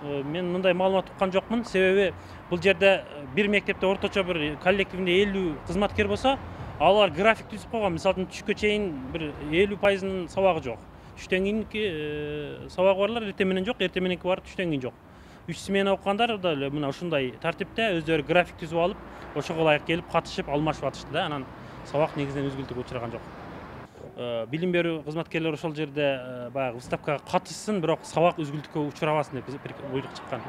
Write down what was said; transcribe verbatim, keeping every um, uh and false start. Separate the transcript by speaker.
Speaker 1: Мен мындай маалымат уккан жокмун. Себеби бул жерде бир мектепте орточо бир коллективинде элүү кызматкер болсо, алар график түзүп койгон. Мисалы үчүн түшкө чейин бир элүү пайызынын сабагы жок. Түштөн кийинки сабагы барлар эртең менен жок, эртең мененки бар, түштөн кийин жок. Үч смена окугандар да эле мына ушундай тартипте өздөрү график түзүп алып, ошого ылайык келип катышып, алмашып атышты да. Анан сабак негизинен үзгүлтүккө учураган жок. Билим берүү кызматкерлери ошол жерде баягы выставкага катышсын, бирок сабак үзгүлтүккө учурабасын деп буйрук чыккан.